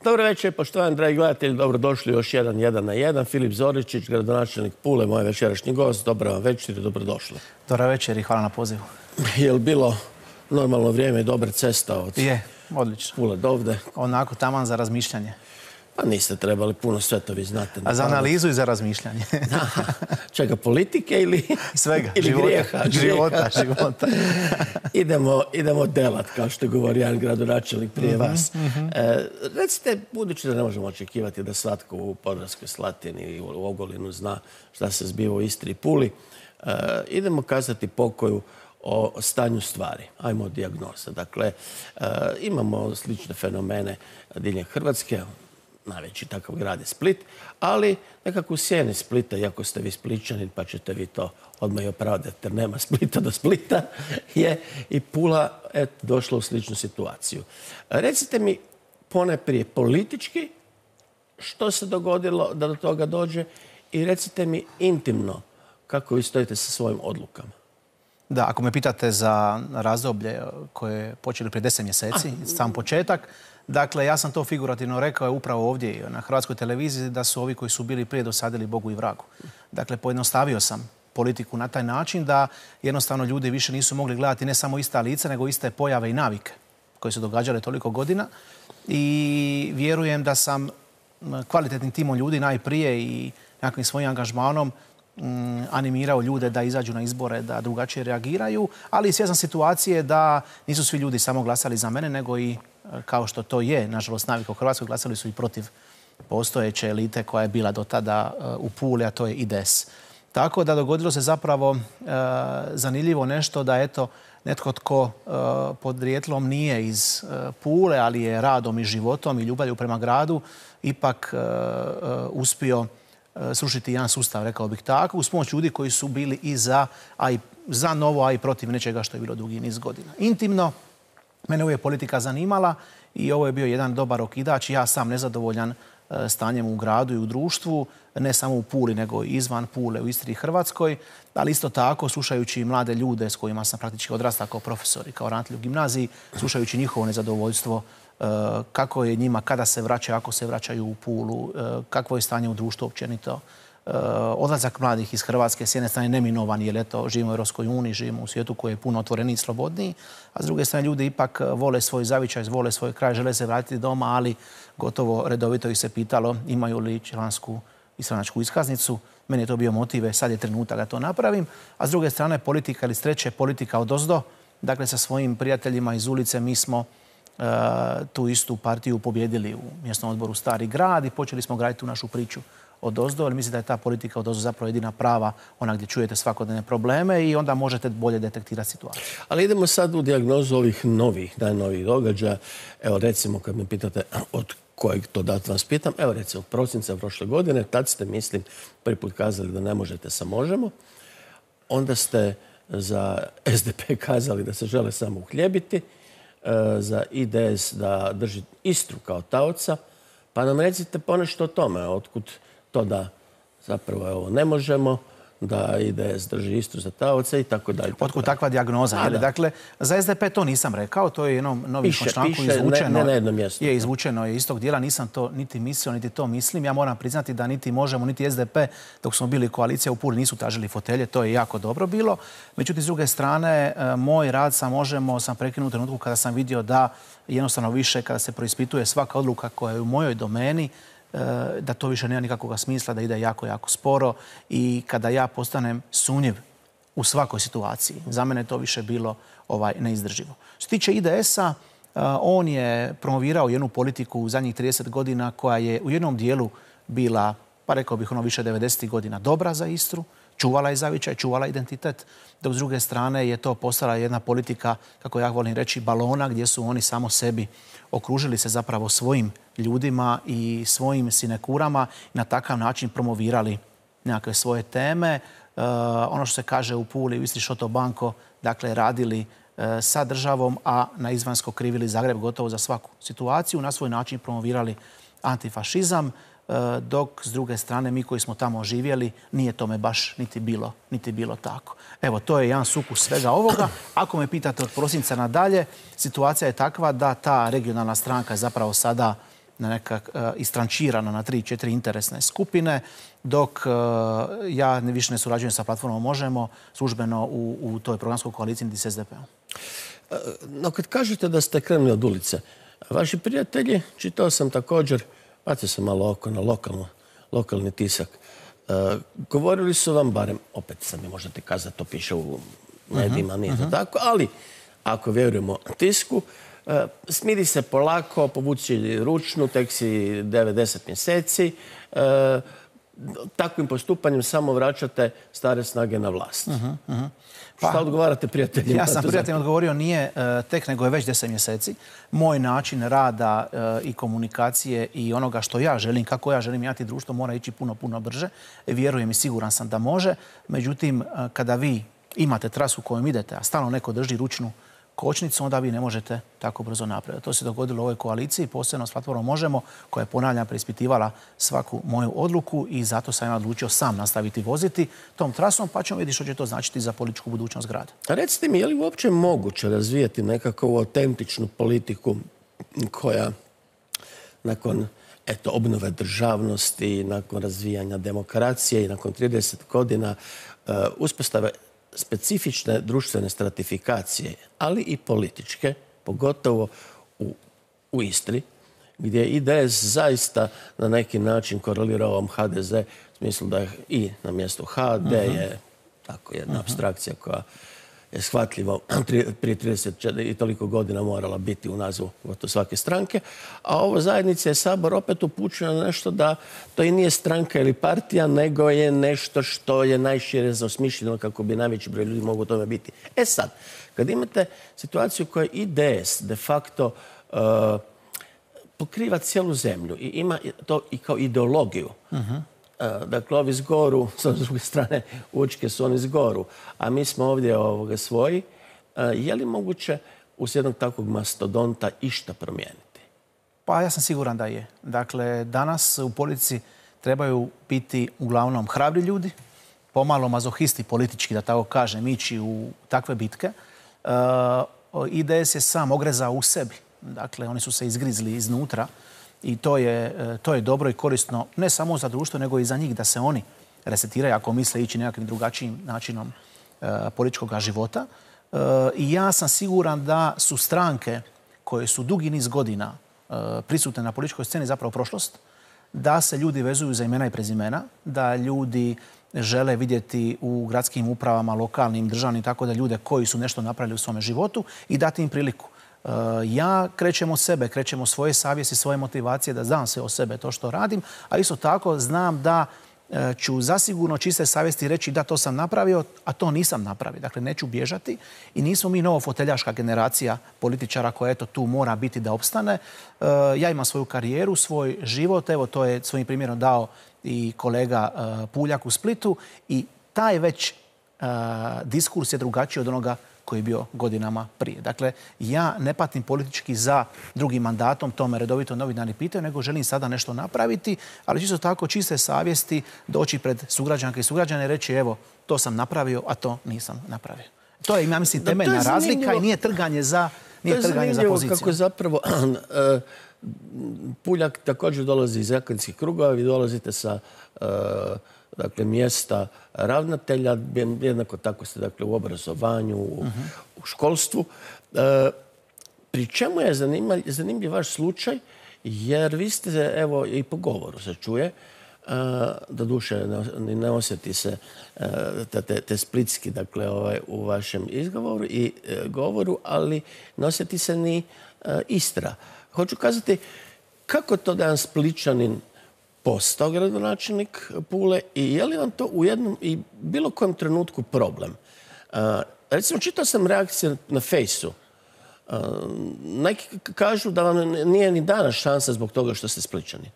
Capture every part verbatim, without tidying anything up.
Dobro večer, poštovani dragi gledatelji, dobrodošli još jedan jedan na jedan. Filip Zoričić, gradonačelnik Pule, moj večerašnji gost. Dobro vam večer i dobrodošli. Dobro večer i hvala na pozivu. Je li bilo normalno vrijeme i dobra cesta od Je, odlično. Pule do ovde? Onako taman za razmišljanje. Pa niste trebali puno, sve to vi znate. A za analizu i za razmišljanje. Čega, politike ili svega, ili života, grijeha? Života, života. idemo, idemo delat, kao što govori jedan gradonačelnik prije mm-hmm, vas. Mm-hmm. E, recite, budući da ne možemo očekivati da svatko u Podravskoj Slatini i u Ogulinu zna šta se zbiva u Istri i Puli, e, idemo kazati pokoju o stanju stvari. Ajmo od dijagnoza. Dakle, e, imamo slične fenomene diljem Hrvatske. Najveći takav grad je Split, ali nekako u sjeni Splita, iako ste vi Spličanin, pa ćete vi to odmah i opravdati, jer nema Splita do Splita, je i Pula et, došla u sličnu situaciju. Recite mi ponajprije politički što se dogodilo da do toga dođe i recite mi intimno kako vi stojite sa svojim odlukama. Da, ako me pitate za razdoblje koje je počeli prije deset mjeseci, sam početak, dakle, ja sam to figurativno rekao upravo ovdje na Hrvatskoj televiziji da su ovi koji su bili prije dosadili Bogu i vragu. Dakle, pojednostavio sam politiku na taj način da jednostavno ljudi više nisu mogli gledati ne samo ista lica, nego iste pojave i navike koje su događale toliko godina. I vjerujem da sam kvalitetnim timom ljudi najprije i nekakvim svojim angažmanom animirao ljude da izađu na izbore, da drugačije reagiraju, ali i svjestan situacije da nisu svi ljudi samo glasali za mene, nego i, kao što to je, nažalost, navika u Hrvatskoj, glasali su i protiv postojeće elite koja je bila do tada u Puli, a to je I D S. Tako da dogodilo se zapravo e, zanimljivo nešto da, eto, netko tko e, podrijetlom nije iz e, Pule, ali je radom i životom i ljubavlju prema gradu, ipak e, e, uspio srušiti jedan sustav, rekao bih tako, uz pomoć ljudi koji su bili i za, a i za novo, a i protiv nečega što je bilo dugi niz godina. Intimno, mene uvijek politika zanimala i ovo je bio jedan dobar okidač. Ja sam nezadovoljan stanjem u gradu i u društvu, ne samo u Puli, nego i izvan Pule, u Istri i Hrvatskoj, ali isto tako, slušajući mlade ljude s kojima sam praktički odrastao kao profesor i kao ravnatelj u gimnaziji, slušajući njihovo nezadovoljstvo, kako je njima, kada se vraćaju, ako se vraćaju u Pulu, kakvo je stanje u društvu općenito. Odlazak mladih iz Hrvatske s jedne strane neminovan, jer eto, živimo u Europskoj uniji, živimo u svijetu koji je puno otvoreniji i slobodniji, a s druge strane ljudi ipak vole svoj zavičaj, vole svoj kraj, žele se vratiti doma, ali gotovo redovito ih se pitalo imaju li člansku i stranačku iskaznicu. Meni je to bio motiv, sad je trenutak da to napravim. A s druge strane politika ili s treće politika odozdo. Dakle, sa svojim prijateljima iz ulice mi smo Uh, tu istu partiju pobjedili u mjesnom odboru Stari grad i počeli smo graditi tu našu priču odozdo, ali mislim da je ta politika odozdo zapravo jedina prava, ona gdje čujete svakodnevne probleme i onda možete bolje detektirati situaciju. Ali idemo sad u dijagnozu ovih novih, najnovijih događaja. Evo recimo kad me pitate od kojeg to dat vas pitam, evo recimo od prosinca prošle godine, tad ste, mislim, prvi put kazali da ne možete sa Možemo, onda ste za S D P kazali da se žele samo uhljebiti, za I D S da drži Istru kao taoca. Pa nam recite ponešto o tome, otkud to da zapravo ovo ne možemo, da I D S drži Istru za taoca i tako dalje. Otkud takva dijagnoza? A, dakle, za S D P to nisam rekao, to je jednom novim članku izvučeno. Ne, ne na jednom mjestu. Je izvučeno je iz tog dijela, nisam to niti mislio, niti to mislim. Ja moram priznati da niti Možemo, niti S D P, dok smo bili koalicija u Puli, nisu tražili fotelje, to je jako dobro bilo. Međutim, s druge strane, moj rad sa Možemo sam prekinuo u trenutku kada sam vidio da jednostavno više, kada se proispituje svaka odluka koja je u mojoj domeni, da to više nema nikakvog smisla, da ide jako, jako sporo i kada ja postanem sumnjiv u svakoj situaciji. Za mene to više bilo ovaj, neizdrživo. Što se tiče I D S-a, on je promovirao jednu politiku u zadnjih trideset godina koja je u jednom dijelu bila, pa rekao bih ono više devedesetih godina, dobra za Istru, čuvala je zavičaj, čuvala identitet, dok s druge strane je to postala jedna politika, kako ja volim reći, balona gdje su oni samo sebi okružili se zapravo svojim ljudima i svojim sinekurama i na takav način promovirali nekakve svoje teme. E, ono što se kaže u Puli, u Istri šoto banko, dakle radili e, sa državom, a na izvanjsko krivili Zagreb gotovo za svaku situaciju, na svoj način promovirali antifašizam, dok s druge strane mi koji smo tamo živjeli nije tome baš niti bilo, niti bilo tako. Evo, to je jedan sukus svega ovoga. Ako me pitate od prosinca nadalje, situacija je takva da ta regionalna stranka je zapravo sada na neka istrančirana na tri, četiri interesne skupine, dok ja više ne surađujem sa platformom Možemo službeno u, u toj programskoj koaliciji niti s es de pe om. No, kad kažete da ste krenuli od ulice, vaši prijatelji, čitao sam također, bacio sam malo oko na lokalno, lokalni tisak, uh, govorili su vam, barem, opet sam mi možete kazati, to piše u medijima, nije to tako, ali ako vjerujemo tisku, uh, smiri se polako, povuci ručnu, tek si devedeset mjeseci, uh, takvim postupanjem samo vraćate stare snage na vlast. Uh -huh, uh -huh. Pa, šta odgovarate prijateljima? Ja sam prijateljima odgovorio nije uh, tek, nego je već deset mjeseci. Moj način rada uh, i komunikacije i onoga što ja želim, kako ja želim mijenjati društvo, mora ići puno, puno brže. Vjerujem i siguran sam da može. Međutim, uh, kada vi imate trasu kojom idete, a stalno neko drži ručnu kočnicu, onda vi ne možete tako brzo napraviti. To se dogodilo u ovoj koaliciji, posebno s platformom Možemo, koja je, ponavljam, preispitivala svaku moju odluku i zato sam ja odlučio sam nastaviti voziti tom trasom, pa ćemo vidjeti što će to značiti za političku budućnost grada. A recite mi, je li uopće moguće razvijati nekakvu autentičnu politiku koja nakon eto, obnove državnosti, nakon razvijanja demokracije i nakon trideset godina uh, uspostave specifične društvene stratifikacije, ali i političke, pogotovo u, u Istri, gdje I D S zaista na neki način korelira ovom ha de ze, u smislu da je I na mjestu H, D je tako jedna apstrakcija koja je shvatljiva prije trideset i toliko godina morala biti u nazivu gotovo svake stranke, a ovo zajednica je Sabor opet upućuje na nešto da to i nije stranka ili partija, nego je nešto što je najšire osmišljeno kako bi najveći broj ljudi mogu u tome biti. E sad, kad imate situaciju koja I D S de facto uh, pokriva cijelu zemlju i ima to i kao ideologiju, uh-huh. Dakle, ovi zgoru, s druge strane, Učke su oni zgoru, a mi smo ovdje ovoga svoji. Je li moguće uz jednog takvog mastodonta išta promijeniti? Pa ja sam siguran da je. Dakle, danas u politici trebaju biti uglavnom hrabri ljudi, pomalo mazohisti politički, da tako kažem, ići u takve bitke. I D S je sam ogrezao u sebi. Dakle, oni su se izgrizli iznutra. I to je, to je dobro i korisno ne samo za društvo, nego i za njih da se oni resetiraju ako misle ići nekakvim drugačijim načinom e, političkog života. E, I ja sam siguran da su stranke koje su dugi niz godina e, prisutne na političkoj sceni zapravo prošlost, da se ljudi vezuju za imena i prezimena, da ljudi žele vidjeti u gradskim upravama, lokalnim, državnim, tako da ljude koji su nešto napravili u svome životu i dati im priliku. Ja krećem od sebe, krećem od svoje savjesti, svoje motivacije da znam sve o sebe to što radim, a isto tako znam da ću zasigurno čiste savjesti reći da to sam napravio, a to nisam napravio. Dakle, neću bježati i nismo mi novofoteljaška generacija političara koja eto tu mora biti da opstane. Ja imam svoju karijeru, svoj život, evo to je svojim primjerom dao i kolega Puljak u Splitu i taj već diskurs je drugačiji od onoga koji je bio godinama prije. Dakle, ja ne patim politički za drugim mandatom, to me redovito novinari pitaju, nego želim sada nešto napraviti, ali isto tako čiste savjesti doći pred sugrađanke i sugrađane i reći evo, to sam napravio, a to nisam napravio. To je, ja mislim, temeljna razlika i nije trganje za, nije trganje za poziciju. Kako zapravo Puljak također dolazi iz akademskih krugova, vi dolazite sa dakle, mjesta ravnatelja, jednako tako ste dakle, u obrazovanju, u, u školstvu. E, pri čemu je zanimljiv, zanimljiv vaš slučaj, jer vi ste, evo, i po govoru se čuje, e, do duše ne, ne osjeti se e, te, te splitski dakle, ovaj, u vašem izgovoru i e, govoru, ali ne osjeti se ni e, Istra. Hoću kazati, kako to da jedan Spličanin postao gradonačelnik Pule i je li vam to u jednom i bilo kojem trenutku problem? Uh, recimo, čitao sam reakcije na Fejsu. Uh, neki kažu da vam nije ni dana šansa zbog toga što ste Spličani.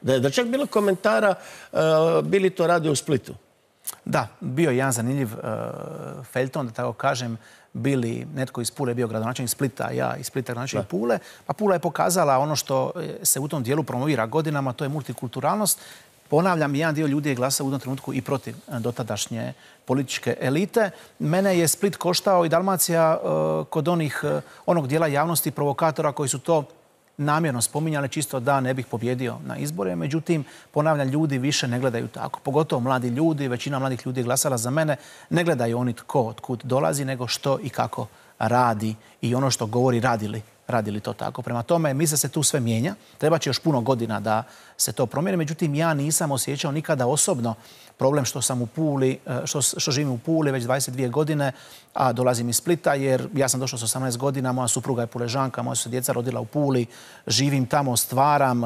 Da je da čak bilo komentara uh, bili to radio u Splitu. Da, bio je jedan zanimljiv uh, feljton, da tako kažem, bili netko iz Pule bio gradonačelnik Splita, ja iz Splita gradonačelnik Pule. Pa Pula je pokazala ono što se u tom dijelu promovira godinama, to je multikulturalnost. Ponavljam, jedan dio ljudi je glasao u tom trenutku i protiv dotadašnje političke elite. Mene je Split koštao i Dalmacija uh, kod onih, uh, onog dijela javnosti provokatora koji su to namjerno spominjali čisto da ne bih pobjedio na izbore. Međutim, ponavljam, ljudi više ne gledaju tako. Pogotovo mladi ljudi, većina mladih ljudi je glasala za mene. Ne gledaju oni tko od kud dolazi, nego što i kako radi i ono što govori radili. Radili to tako. Prema tome, misle se tu sve mijenja. Treba će još puno godina da se to promijeni. Međutim, ja nisam osjećao nikada osobno problem što sam u Puli, što, što živim u Puli već dvadeset dvije godine, a dolazim iz Splita, jer ja sam došao s osamnaest godina, moja supruga je Puležanka, moja su se djeca rodila u Puli, živim tamo, stvaram,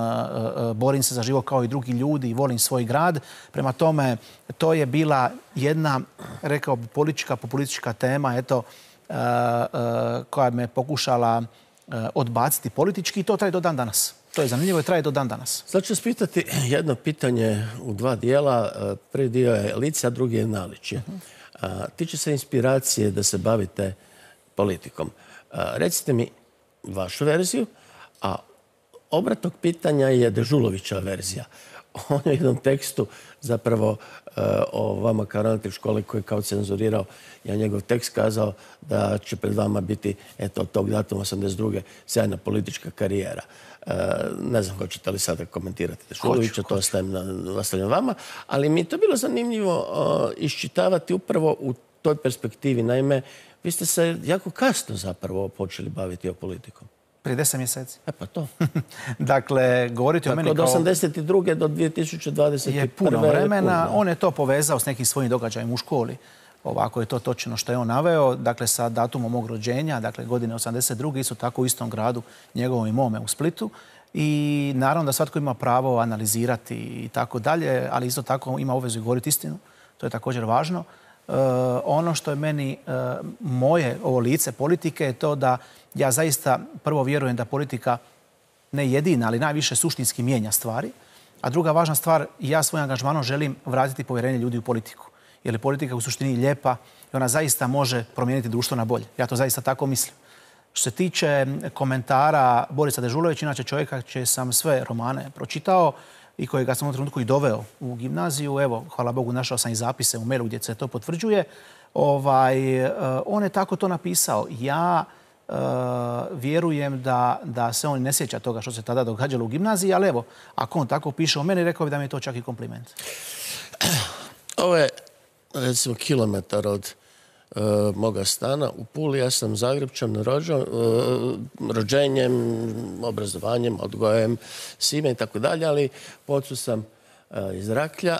borim se za život kao i drugi ljudi i volim svoj grad. Prema tome, to je bila jedna, rekao bi, politička, populistička tema, eto, koja me pokušala odbaciti politički i to traje do dan danas. To je zanimljivo i traje do dan danas. Sad ću spitati jedno pitanje u dva dijela. Prvi dio je lice, a drugi je naličje. Uh-huh. Tiče se inspiracije da se bavite politikom. Recite mi vašu verziju, a obrat tog pitanja je Dežulovićeva verzija. On je u jednom tekstu zapravo uh, o vama kao ravnatelj škole koji je kao cenzurirao, ja njegov tekst kazao da će pred vama biti, eto, od tog datuma osamdeset druge sjajna politička karijera. Uh, ne znam hoćete li sada komentirati Dežulovića, to ostavim, na, ostavljam vama, ali mi je to bilo zanimljivo uh, iščitavati upravo u toj perspektivi. Naime, vi ste se jako kasno zapravo počeli baviti o politikom. Prije deset mjeseci. E pa to. Dakle, govoriti o meni kao... Od osamdeset druge do dvije tisuće dvadeset prve je puno vremena. On je to povezao s nekim svojim događajem u školi. Ovako je to točno što je on naveo. Dakle, sa datumom mog rođenja, dakle, godine osamdeset druge isto tako u istom gradu, njegovom i mome u Splitu. I naravno da svatko ima pravo analizirati i tako dalje, ali isto tako ima obvezu govoriti istinu. To je također važno. Uh, ono što je meni uh, moje ovo lice politike je to da ja zaista prvo vjerujem da politika ne jedina, ali najviše suštinski mijenja stvari. A druga važna stvar, ja svojim angažmanom želim vratiti povjerenje ljudi u politiku. Jer je politika u suštini lijepa i ona zaista može promijeniti društvo na bolje. Ja to zaista tako mislim. Što se tiče komentara Borisa Dežulovića, inače čovjeka čije sam sve romane pročitao i kojega sam u trenutku i doveo u gimnaziju. Evo, hvala Bogu, našao sam i zapise u mailu gdje se to potvrđuje. Ovaj, on je tako to napisao. Ja uh, vjerujem da, da se on ne sjeća toga što se tada događalo u gimnaziji, ali evo, ako on tako piše o meni, rekao bi da mi je to čak i kompliment. Ovo je, recimo, kilometar od uh, moga stana u Puli. Ja sam Zagrepčan rođen, uh, rođenjem, obrazovanjem, odgojem, svime i tako dalje, ali po ocu sam uh, iz Raklja,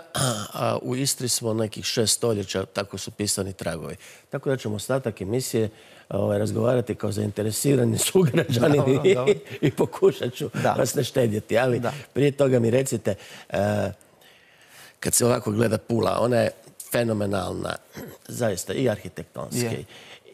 a u Istri smo nekih šest stoljeća, tako su pisani tragovi. Tako da ćemo ostatak emisije ovaj, razgovarati kao zainteresirani sugrađani i, i pokušat ću da. vas ne štedjeti. Ali da. prije toga mi recite, uh, kad se ovako gleda Pula, ona je fenomenalna, zaista, i arhitektonski. Yeah.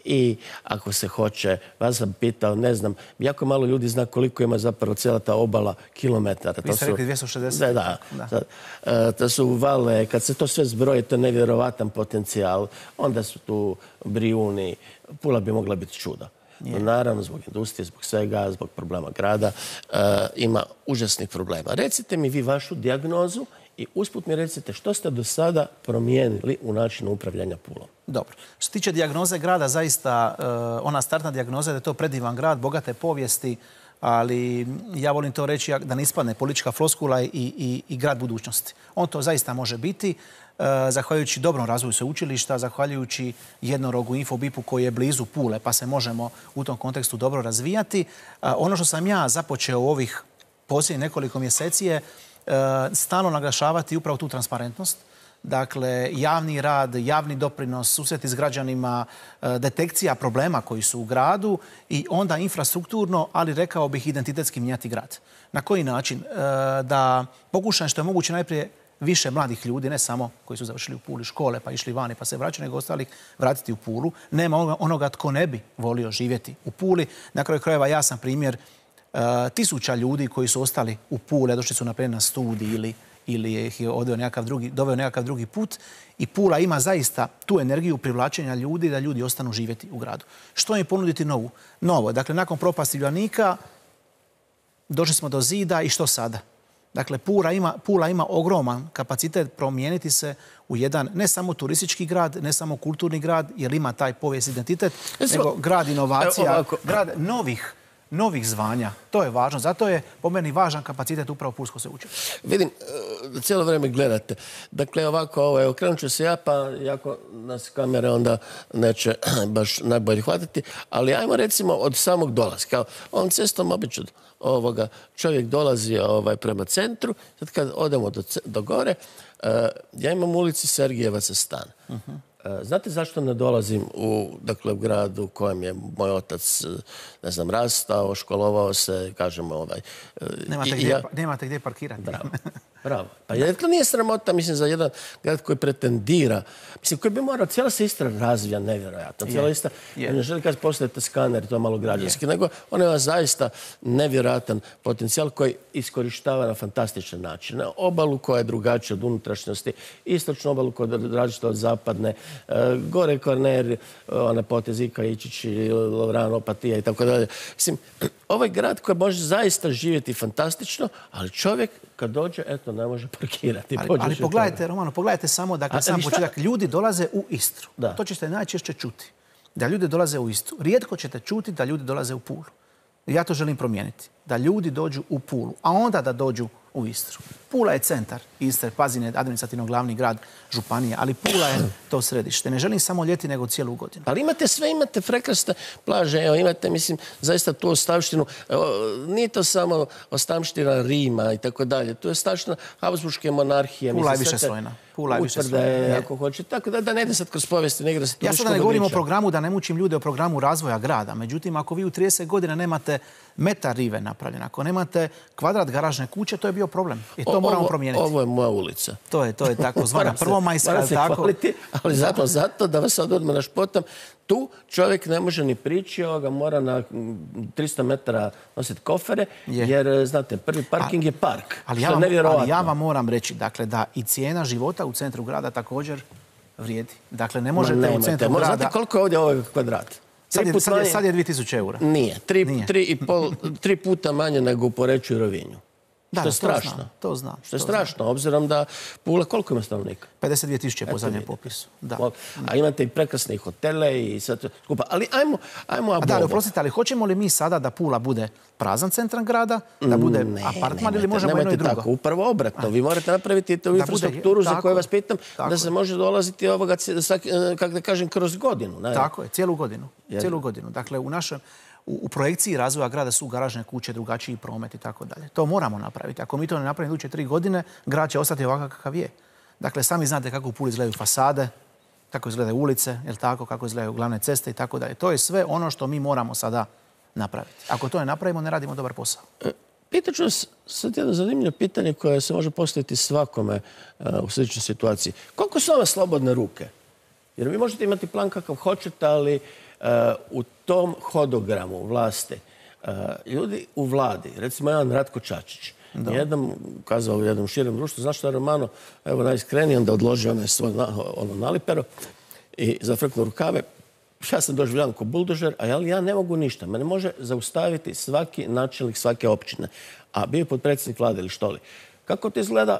I ako se hoće, vas sam pitao, ne znam, jako malo ljudi zna koliko ima zapravo cijela ta obala kilometara. Vi ste rekli dvjesto šezdeset. Da, da. da. da. To su vale, kad se to sve zbroji, to je nevjerovatan potencijal. Onda su tu Brijuni. Pula bi mogla biti čudo. Yeah. Naravno, zbog industrije, zbog svega, zbog problema grada, uh, ima užasnih problema. Recite mi vi vašu dijagnozu i usput mi recite što ste do sada promijenili u načinu upravljanja Pulom. Dobro. Što se tiče dijagnoze grada, zaista uh, ona startna dijagnoza je da je to predivan grad, bogate povijesti, ali ja volim to reći da ne ispadne politička floskula i, i, i grad budućnosti. On to zaista može biti, uh, zahvaljujući dobrom razvoju sveučilišta, zahvaljujući jednorogu Infobipu koji je blizu Pule, pa se možemo u tom kontekstu dobro razvijati. Uh, ono što sam ja započeo u ovih posljednjih nekoliko mjeseci je stalno naglašavati upravo tu transparentnost. Dakle, javni rad, javni doprinos, susreti s građanima, detekcija problema koji su u gradu i onda infrastrukturno, ali rekao bih identitetski mijenjati grad. Na koji način? Da pokušam što je moguće najprije više mladih ljudi, ne samo koji su završili u Puli škole pa išli vani pa se vraćaju, nego ostalih vratiti u Pulu. Nema onoga tko ne bi volio živjeti u Puli. Na kraju krajeva ja sam primjer Uh, tisuća ljudi koji su ostali u Puli, došli su naprijed na studij ili, ili ih je odveo nekakav drugi, doveo nekakav drugi put. I Pula ima zaista tu energiju privlačenja ljudi da ljudi ostanu živjeti u gradu. Što im ponuditi novu? Novo. Dakle, nakon propasti Uljanika došli smo do zida i što sada? Dakle, Pula ima, Pula ima ogroman kapacitet promijeniti se u jedan ne samo turistički grad, ne samo kulturni grad, jer ima taj povijest identitet, nego grad inovacija, grad novih novih zvanja. To je važno. Zato je po meni važan kapacitet upravo Pulsko sveučilište. Vidim, cijelo vrijeme gledate. Dakle, ovako, ovo, evo, krenut ću se ja, pa jako nas kamere onda neće baš najbolje hvatiti, ali ajmo recimo od samog dolaska. Ovom cestom obično ovoga čovjek dolazi ovaj, prema centru, sad kad odemo do, do gore, uh, ja imam u ulici Sergijevaca stan. Uh-huh. Znate zašto ne dolazim u, dakle, u gradu u kojem je moj otac, ne znam, rastao, školovao se, kažemo, ovaj... Nemate, gdje, ja... nemate gdje parkirati. Bravo. Bravo. Pa je, to nije sramota, mislim, za jedan grad koji pretendira, mislim, koji bi morao, cijela se Istra razvija nevjerojatno. Cijela Istra, yeah. ne želi kad postavite skaner, to je malo građanski, yeah. nego on ima zaista nevjerojatan potencijal koji iskorištava na fantastičan način. Na obalu koja je drugačija od unutrašnjosti, istočnu obalu koja je različita od zapadne, gore Kvarner, ona potez Ika, Ičić, Lovran, Opatija i tako dalje. Mislim, ovaj grad koji može zaista živjeti fantastično, ali čovjek kad dođe, eto, ne može parkirati. Ali, ali pogledajte, Romano, pogledajte samo, dakle, sam početak, ljudi dolaze u Istru. Da. To ćete najčešće čuti. Da ljudi dolaze u Istru. Rijetko ćete čuti da ljudi dolaze u Pulu. Ja to želim promijeniti. Da ljudi dođu u Pulu, a onda da dođu u Istru. Pula je centar Istre, Pazin je administrativno glavni grad županije, ali Pula je to središte. Ne želim samo ljeti, nego cijelu godinu. Ali imate sve, imate prekrasne plaže, evo, imate, mislim, zaista tu ostavštinu. Evo, nije to samo ostavština Rima i tako dalje. Tu je ostavština Habsburške monarhije. Pula je više slojna. Pula je više slojna. Ako hoće. Tako da, da ne ide sad kroz povijesti, ne igra se ja sada ne govorim o programu, da ne mučim ljude o programu razvoja grada. Međutim, ako vi u trideset godina nemate metar rive napravljen, ako nemate kvadrat garažne kuće, to je bio problem. I to o, moramo ovo, promijeniti. Ovo je moja ulica. To je, to je tako zvana prvomajska. Se tako. Hvaliti, ali zato, zato da vas sad odmah našpotam, tu čovjek ne može ni prići, ovoga mora na tristo metara nositi kofere, je. jer, znate, prvi parking A, je park. Ali ja, vam, ali ja vam moram reći, dakle, da i cijena života u centru grada također vrijedi. Dakle, ne možete Ma, u centru grada... Znate koliko je ovdje ovaj kvadrat? Sad je, sad, je, sad je dvije tisuće eura. Nije. Tri, Nije. Tri, i pol, tri puta manje nego u Poreču i Rovinju. Da, što je strašno. To znam. To znam što je strašno, znam. Obzirom da Pula, koliko ima stanovnika? pedeset dvije tisuće po zadnjem popisu. Da. A imate i prekrasne hotele i sve to skupa. Ali ajmo, ajmo A da, ali oprostite, ali hoćemo li mi sada da Pula bude prazan centar grada, da bude ne, apartman ili možemo jedno i drugo? Tako, upravo obratno. Vi morate napraviti tu infrastrukturu bude, za koju vas pitam tako, da se može dolaziti ovoga, kako da kažem, kroz godinu. Ne? Tako je, cijelu godinu. Cijelu godinu. Dakle, u našem U, u projekciji razvoja grada su garažne kuće, drugačiji promet i tako dalje. To moramo napraviti. Ako mi to ne napravimo iduće tri godine, grad će ostati ovakav kakav je. Dakle, sami znate kako u Puli izgledaju fasade, kako izgledaju ulice, jel tako, kako izgledaju glavne ceste i tako dalje. To je sve ono što mi moramo sada napraviti. Ako to ne napravimo, ne radimo dobar posao. Pitat ću vas sad jedno zanimljivo pitanje koje se može postaviti svakome uh, u sličnoj situaciji. Koliko su ove slobodne ruke? Jer vi možete imati plan kakav hoćete, ali Uh, u tom hodogramu vlasti, uh, ljudi u vladi, recimo jedan Ratko Čačić, jednom kazao u jednom širem društvu, znaš što je Romano, evo najiskrenije, onda odloži onaj svoj na, ono nalipero i zafrknu rukave. Ja sam doživljavan ko buldožer, a ja ne mogu ništa. Mene može zaustaviti svaki načelnik svake općine. A bio je potpredsjednik vlade ili što li. Kako to izgleda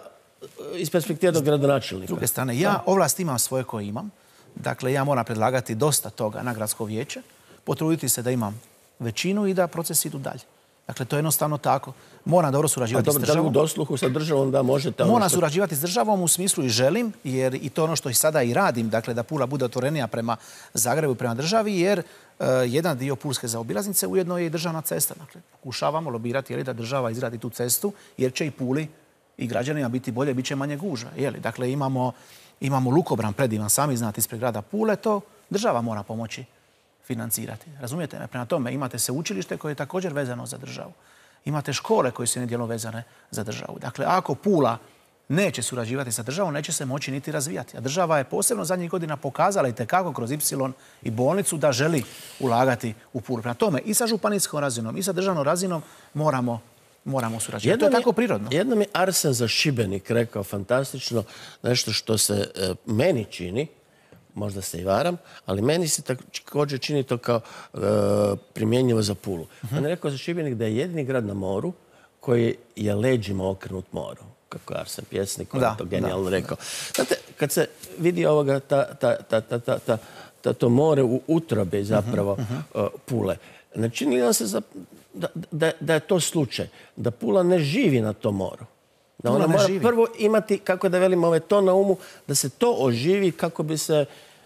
iz perspektive do gradonačelnika? S druge strane, ja ovlast imam svoje koje imam. Dakle, ja moram predlagati dosta toga na gradsko vijeće, potruditi se da imam većinu i da procesi idu dalje. Dakle, to je jednostavno tako. Moram dobro surađivati s državom. A dobro, da li u dosluhu sa državom da možete... Moram surađivati s državom u smislu i želim, jer i to ono što i sada i radim, dakle, da Pula bude otvorenija prema Zagrebu i prema državi, jer uh, jedan dio Pulske zaobilaznice ujedno je i državna cesta. Dakle, pokušavamo lobirati jeli, da država izradi tu cestu, jer će i Puli i građanima biti bolje, bit će manje gužva. Jeli? Dakle, imamo... Imamo lukobran predivan, sami znate, ispred grada Pule, to država mora pomoći financirati. Razumijete me? Prema tome imate sveučilište koje je također vezano za državu. Imate škole koje su nedjelom vezane za državu. Dakle, ako Pula neće surađivati sa državom, neće se moći niti razvijati. A država je posebno zadnjih godina pokazala i tekako kroz Ipsilon i bolnicu da želi ulagati u Pulu. Prema tome i sa županijskom razinom i sa državnom razinom moramo Moramo surađivati. To je tako prirodno. Jednom je Arsen za Šibenik rekao fantastično nešto što se e, meni čini, možda se i varam, ali meni se također čini to kao e, primjenjivo za Pulu. Uh-huh. On je rekao za Šibenik da je jedini grad na moru koji je leđima okrenut moru. Kako je Arsen pjesnik, koji je to genijalno da, rekao. Da. Znate, kad se vidi ovoga, ta, ta, ta, ta, ta, ta, ta, to more u utrobi zapravo uh-huh, uh-huh. Pule, ne čini li nam se za, da, da, da je to slučaj? Da Pula ne živi na tom moru. Da ona mora živi. Prvo imati, kako da velim, ove to na umu, da se to oživi kako bi se...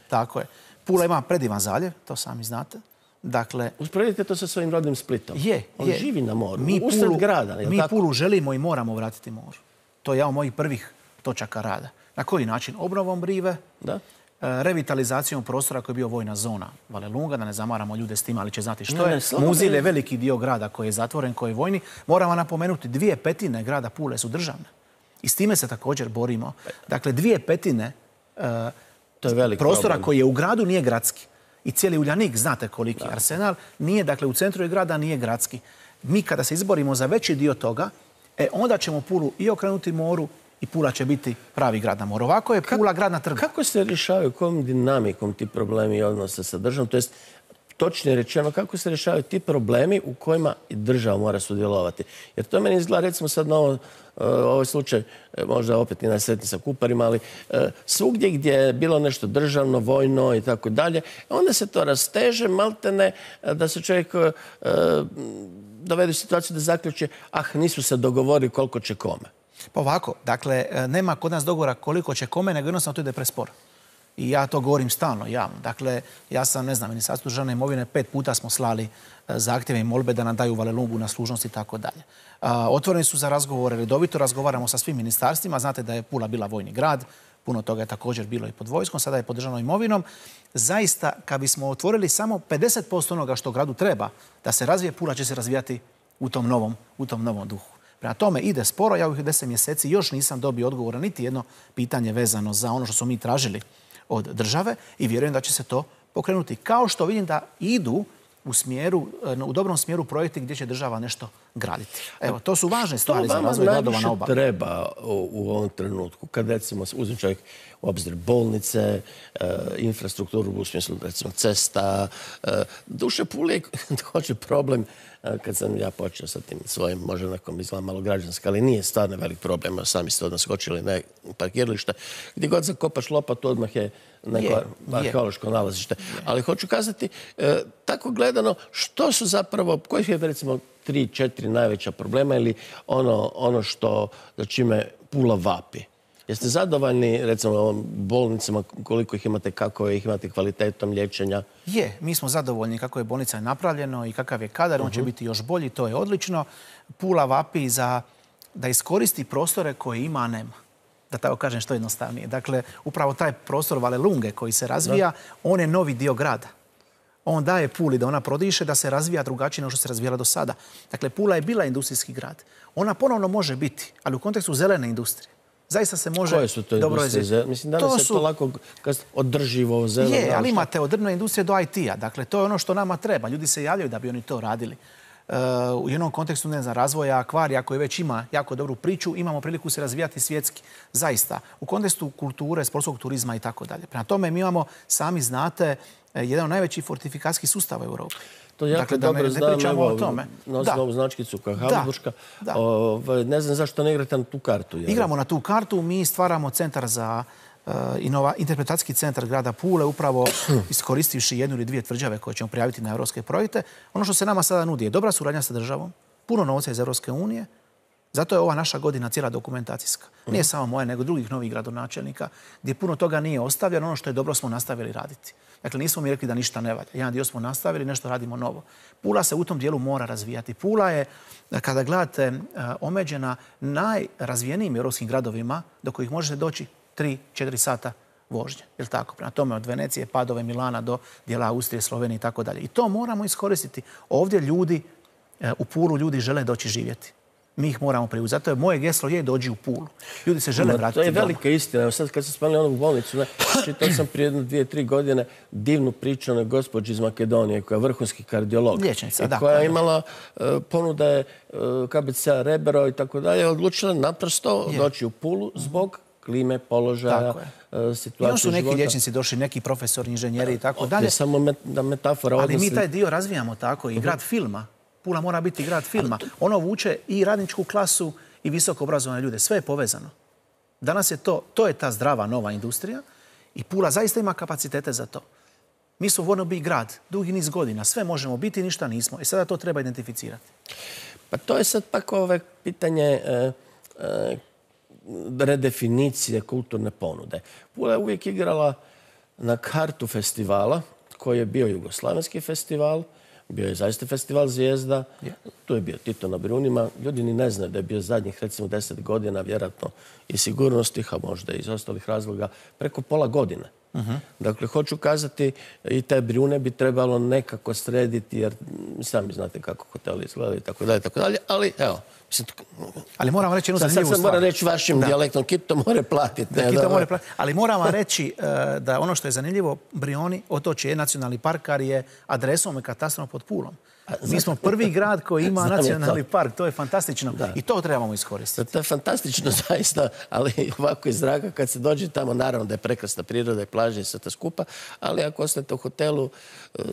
Tako je. Pula ima predivan zaljev, to sami znate. Dakle, usporedite to sa svojim rodnim Splitom. Je, On je. živi na moru, mi usred Pulu, grada. Je mi tako? Pulu želimo i moramo vratiti moru. To je jedan od mojih prvih točaka rada. Na koji način? Obnovom rive, da. revitalizacijom prostora koji je bio vojna zona Valelunga, da ne zamaramo ljude s tim, ali će znati što ne, je. Ne, Muzil je veliki dio grada koji je zatvoren, koji je vojni. Moramo napomenuti, dvije petine grada Pule su državne. I s time se također borimo. Dakle, dvije petine uh, to je velik prostora problem. koji je u gradu nije gradski. I cijeli Uljanik, znate koliki da. Arsenal, nije, dakle, u centru je grada nije gradski. Mi kada se izborimo za veći dio toga, e, onda ćemo Pulu i okrenuti moru i Pula će biti pravi grad na moru. Ovako je Pula grad na trgu. Kako se rješavaju, kojom dinamikom ti problemi odnose sa državom? To jest, točnije rečeno, kako se rješavaju ti problemi u kojima i država mora sudjelovati? Jer to meni izgleda, recimo sad na ovo, ovaj slučaj, možda opet i najsretniji sa Kuparima, ali svugdje gdje je bilo nešto državno, vojno i tako dalje, onda se to rasteže, maltene, da se čovjek dovede u situaciju da zaključe, ah, nisu se dogovorili koliko će kome. Pa ovako, dakle, nema kod nas dogovora koliko će kome, nego jednostavno to ide presporo. I ja to govorim stalno, javno. Dakle, ja sam, ne znam, Ministarstvo državne imovine, pet puta smo slali zahtjeve i molbe da nam daju Valelungu na služnost i tako dalje. Otvoreni su za razgovore, redovito razgovaramo sa svim ministarstvima. Znate da je Pula bila vojni grad, puno toga je također bilo i pod vojskom, sada je pod državnom imovinom. Zaista, kad bismo otvorili samo pedeset posto onoga što gradu treba da se razvije, Pula će se razvijati u tom novom, u tom novom duhu. Prema tome ide sporo, ja u ovih deset mjeseci još nisam dobio odgovora niti jedno pitanje vezano za ono što smo mi tražili od države i vjerujem da će se to pokrenuti. Kao što vidim da idu u smjeru, u dobrom smjeru projekti gdje će država nešto graditi. Evo, to su važne stvari za razvoj gradova na obali. Treba u, u ovom trenutku, kad recimo uzme čovjek u obzir bolnice, e, infrastrukturu u smislu recimo cesta, e, duše Pule hoće problem kad sam ja počeo sa tim svojim, možda nekom izgleda malo građanski, ali nije stvarno velik problem. Sami ste odmah skočili na parkiralište. Gdje god zakopaš lopatu, odmah je neko arheološko nalazište. Ali hoću kazati, e, tako gledano, što su zapravo, koji je recimo tri, četiri najveća problema ili ono, ono što, za čime Pula vapi? Jeste zadovoljni, recimo, bolnicama, koliko ih imate, kako ih imate kvalitetom liječenja? Je, mi smo zadovoljni kako je bolnica napravljeno i kakav je kadar, on će biti još bolji, to je odlično. Pula vapi za da iskoristi prostore koje ima, a nema. Da tako kažem što jednostavnije. Dakle, upravo taj prostor Valelunge koji se razvija, on je novi dio grada. On daje Puli da ona prodiše, da se razvija drugačije nego što se razvijala do sada. Dakle, Pula je bila industrijski grad. Ona ponovno može biti, ali u kontekstu zelene industrije. Zaista se može... Koje su to industrije? Mislim, danas je to lako održivo, zeleno. Je, ali imate od drvne industrije do I T-a. Dakle, to je ono što nama treba. Ljudi se javljaju da bi oni to radili. U jednom kontekstu, ne znam, razvoja akvarija koji već ima jako dobru priču, imamo priliku se razvijati svjetski. Zaista. U kontekstu kulture, sportskog turizma i tako dalje. Prema tome, mi imamo, sami znate, jedan od najvećih fortifikacijskih sustava u Europi. To jako dakle, dobro znam, evo, nosim ovu značkicu kao Habsburška. Ne znam zašto ne igrate na tu kartu. Jer... Igramo na tu kartu, mi stvaramo centar za uh, inova, interpretacijski centar grada Pule, upravo iskoristivši jednu ili dvije tvrđave koje ćemo prijaviti na europske projekte. Ono što se nama sada nudi je dobra suradnja sa državom, puno novca iz Europske unije, zato je ova naša godina cijela dokumentacijska. Nije samo moja, nego drugih novih gradonačelnika, gdje puno toga nije ostavljeno, ono što je dobro smo nastavili raditi. Dakle, nismo mi rekli da ništa ne valja. Jedan dio smo nastavili, nešto radimo novo. Pula se u tom dijelu mora razvijati. Pula je, kada gledate, omeđena najrazvijenijim europskim gradovima do kojih možete doći tri četiri sata vožnje. Je li tako? Prema tome od Venecije, Padove, Milana do dijela Austrije, Slovenije i tako dalje. I to moramo iskoristiti. Ovdje ljudi, u Pulu ljudi žele doći živjeti. Mi ih moramo privući. Zato je moje geslo je dođi u Pulu. Ljudi se žele vratiti doma. To je velika istina. Evo sad kad sam spomenuli onu bolnicu, čitao sam prije jedno, dvije, tri godine divnu priču o gospođi iz Makedonije koja je vrhunski kardiolog. Liječnica, da. Koja je imala ponuda je K B C Rebero i tako dalje. Odlučila naprosto doći u Pulu zbog klime, položaja, situacije života. Još su neki liječnici došli, neki profesori, inženjeri i tako dalje. Je samo metafora. Ali mi taj dio razvijamo tako i grad filma. Pula mora biti grad filma. Ono vuče i radničku klasu i visoko obrazovane ljude. Sve je povezano. Danas je to, to je ta zdrava nova industrija i Pula zaista ima kapacitete za to. Mi smo wannabe grad, dugi niz godina. Sve možemo biti, ništa nismo. I sada to treba identificirati. Pa to je sad pak ove pitanje e, e, redefinicije kulturne ponude. Pula je uvijek igrala na kartu festivala, koji je bio jugoslavenski festival, bio je zaista festival Zvijezda, yeah. Tu je bio Tito na Brijunima. Ljudi ni ne znaju da je bio zadnjih, recimo, deset godina, vjerojatno i sigurnosnih, a možda i iz ostalih razloga, preko pola godine. Uh-huh. Dakle, hoću kazati, i te Brijune bi trebalo nekako srediti, jer sami znate kako hoteli izgledaju i tako dalje, tako dalje, ali evo. Mislim, ali moram reći jednu zanimljivu stvar. Sad sam moram reći vašim da. dijalektom, Kito more platiti. Da, Kito more platiti. Ali moram vam reći uh, da ono što je zanimljivo, Brijuni, otočje je nacionalni park, ali je adresom i katastrom pod Pulom. A, Mi smo prvi grad koji ima nacionalni park. To je fantastično. Da. I to trebamo iskoristiti. To je fantastično zaista, ali ovako iz zraka kad se dođe tamo, naravno da je prekrasna priroda i plaže i sve to skupa, ali ako ostanete u hotelu, uh,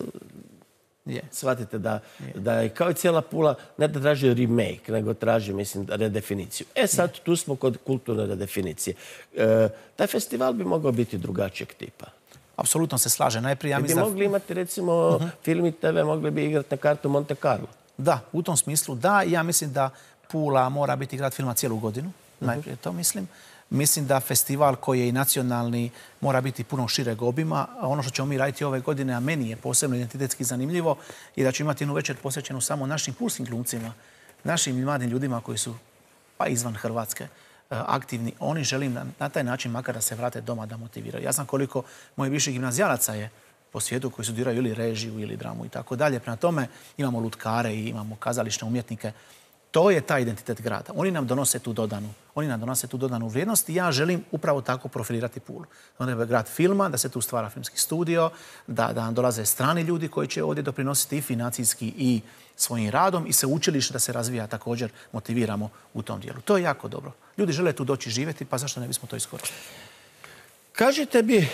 Yeah. shvatite da, yeah. da je kao i cijela Pula ne da traži remake, nego traži, mislim, redefiniciju. E sad, yeah. tu smo kod kulturne redefinicije. E, taj festival bi mogao biti drugačijeg tipa. Apsolutno se slaže. Najprije, ja mislim... bi mogli imati, recimo, uh-huh. film i te ve mogli bi igrati na kartu Monte Carlo. Da, u tom smislu da. Ja mislim da Pula mora biti grad filma cijelu godinu. Uh-huh. Najprije to mislim. Mislim da festival koji je i nacionalni mora biti puno šireg obima. A ono što ćemo mi raditi ove godine, a meni je posebno identitetski zanimljivo, je da ću imati jednu večer posvećenu samo našim pulskim glumcima, našim mladim ljudima koji su pa izvan Hrvatske aktivni. Oni želim na, na taj način makar da se vrate doma, da motiviraju. Ja znam koliko mojih viših gimnazijalaca je po svijetu koji studiraju ili režiju ili dramu i tako dalje. Prema tome imamo lutkare i imamo kazališne umjetnike. To je taj identitet grada. Oni nam donose tu dodanu. Oni nam donose tu dodanu vrijednost i ja želim upravo tako profilirati Pulu. On je grad filma, da se tu stvara filmski studio, da, da nam dolaze strani ljudi koji će ovdje doprinositi i financijski i svojim radom i se učilište da se razvija također motiviramo u tom dijelu. To je jako dobro. Ljudi žele tu doći živjeti, pa zašto ne bismo to iskoristili? Kažite bi,